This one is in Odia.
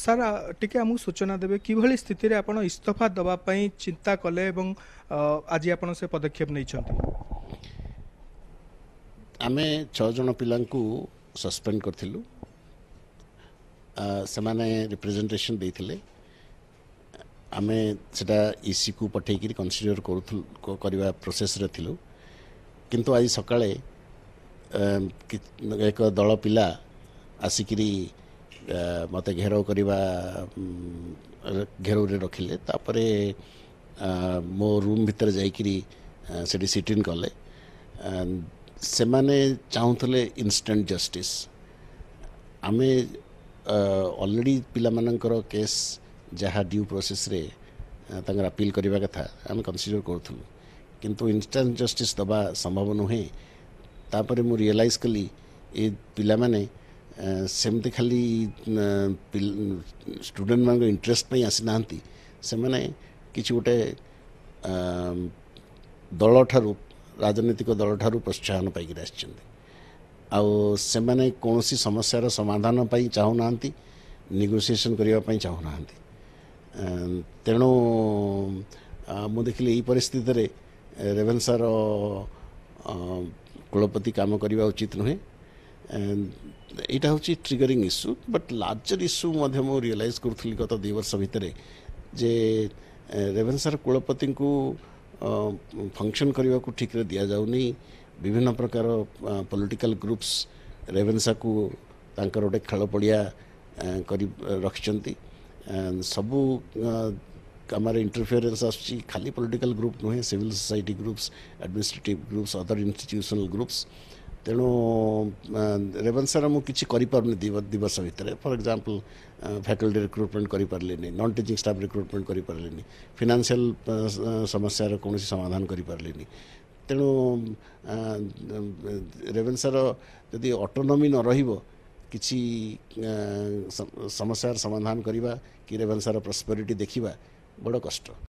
ସାର୍, ଟିକେ ଆମକୁ ସୂଚନା ଦେବେ କିଭଳି ସ୍ଥିତିରେ ଆପଣ ଇସ୍ତଫା ଦେବା ପାଇଁ ଚିନ୍ତା କଲେ ଏବଂ ଆଜି ଆପଣ ସେ ପଦକ୍ଷେପ ନେଇଛନ୍ତି? ଆମେ 6 ଜଣ ପିଲାଙ୍କୁ ସସ୍ପେଣ୍ଡ କରିଥିଲୁ। ସେମାନେ ରିପ୍ରେଜେଣ୍ଟେସନ୍ ଦେଇଥିଲେ, ଆମେ ସେଟା ଇସିକୁ ପଠେଇକିରି କନସିଡର କରୁଥିଲୁ, କରିବା ପ୍ରୋସେସ୍ରେ ଥିଲୁ। କିନ୍ତୁ ଆଜି ସକାଳେ ଏକ ଦଳ ପିଲା ଆସିକିରି ମୋତେ ଘେରାଉ କରିବା, ଘେରାଉରେ ରଖିଲେ। ତାପରେ ମୋ ରୁମ୍ ଭିତରେ ଯାଇକିରି ସେଠି ସିଟିନ୍ କଲେ। ସେମାନେ ଚାହୁଁଥିଲେ ଇନଷ୍ଟାଣ୍ଟ ଜଷ୍ଟିସ୍। ଆମେ ଅଲରେଡ଼ି ପିଲାମାନଙ୍କର କେସ୍ ଯାହା ଡ୍ୟୁ ପ୍ରୋସେସ୍ରେ ତାଙ୍କର ଆପିଲ୍ କରିବା କଥା ଆମେ କନସିଡର କରୁଥିଲୁ, କିନ୍ତୁ ଇନଷ୍ଟାଣ୍ଟ ଜଷ୍ଟିସ୍ ଦେବା ସମ୍ଭବ ନୁହେଁ। ତାପରେ ମୁଁ ରିଏଲାଇଜ୍ କଲି ଏ ପିଲାମାନେ ସେମିତି ଖାଲି ଷ୍ଟୁଡେଣ୍ଟମାନଙ୍କ ଇଣ୍ଟରେଷ୍ଟ ପାଇଁ ଆସିନାହାନ୍ତି, ସେମାନେ କିଛି ଗୋଟେ ଦଳଠାରୁ, ରାଜନୈତିକ ଦଳଠାରୁ ପ୍ରୋତ୍ସାହନ ପାଇକରି ଆସିଛନ୍ତି। ଆଉ ସେମାନେ କୌଣସି ସମସ୍ୟାର ସମାଧାନ ପାଇଁ ଚାହୁଁନାହାନ୍ତି, ନେଗୋସିଏସନ୍ କରିବା ପାଇଁ ଚାହୁଁନାହାନ୍ତି। ତେଣୁ ମୁଁ ଦେଖିଲି ଏଇ ପରିସ୍ଥିତିରେ ରେଭେନ୍ସାର କୁଳପତି କାମ କରିବା ଉଚିତ ନୁହେଁ। ଏଇଟା ହେଉଛି triggering issue, but larger issue ମଧ୍ୟ ମୁଁ ରିଏଲାଇଜ୍ କରୁଥିଲି ଗତ 2 ବର୍ଷ ଭିତରେ ଯେ ରେଭେନ୍ସାର କୁଳପତିଙ୍କୁ ଫଙ୍କସନ୍ କରିବାକୁ ଠିକ୍ରେ ଦିଆଯାଉନି। ବିଭିନ୍ନ ପ୍ରକାର ପଲିଟିକାଲ ଗ୍ରୁପ୍ସ ରେଭେନ୍ସାକୁ ତାଙ୍କର ଗୋଟେ ଖେଳ ପଡ଼ିଆ କରି ରଖିଛନ୍ତି। ସବୁ କାମରେ ଇଣ୍ଟରଫିୟରେନ୍ସ ଆସୁଛି। ଖାଲି ପଲିଟିକାଲ ଗ୍ରୁପ୍ ନୁହେଁ, civil society groups, administrative groups, other institutional groups. ତେଣୁ ରେଭେନ୍ସାର ମୁଁ କିଛି କରିପାରୁନି 2 ବର୍ଷ ଭିତରେ। ଫର୍ ଏକ୍ଜାମ୍ପଲ୍, ଫ୍ୟାକଲ୍ଟି ରିକ୍ରୁଟମେଣ୍ଟ କରିପାରିଲିନି, ନନ୍ ଟିଚିଂ ଷ୍ଟାଫ୍ ରିକ୍ରୁଟମେଣ୍ଟ କରିପାରିଲିନି, ଫିନାନ୍ସିଆଲ ସମସ୍ୟାର କୌଣସି ସମାଧାନ କରିପାରିଲିନି। ତେଣୁ ରେଭେନ୍ସାର ଯଦି ଅଟୋନୋମି ନ ରହିବ, କିଛି ସମସ୍ୟାର ସମାଧାନ କରିବା କି ରେଭେନ୍ସାର ପ୍ରସ୍ପେରିଟି ଦେଖିବା ବଡ଼ କଷ୍ଟ।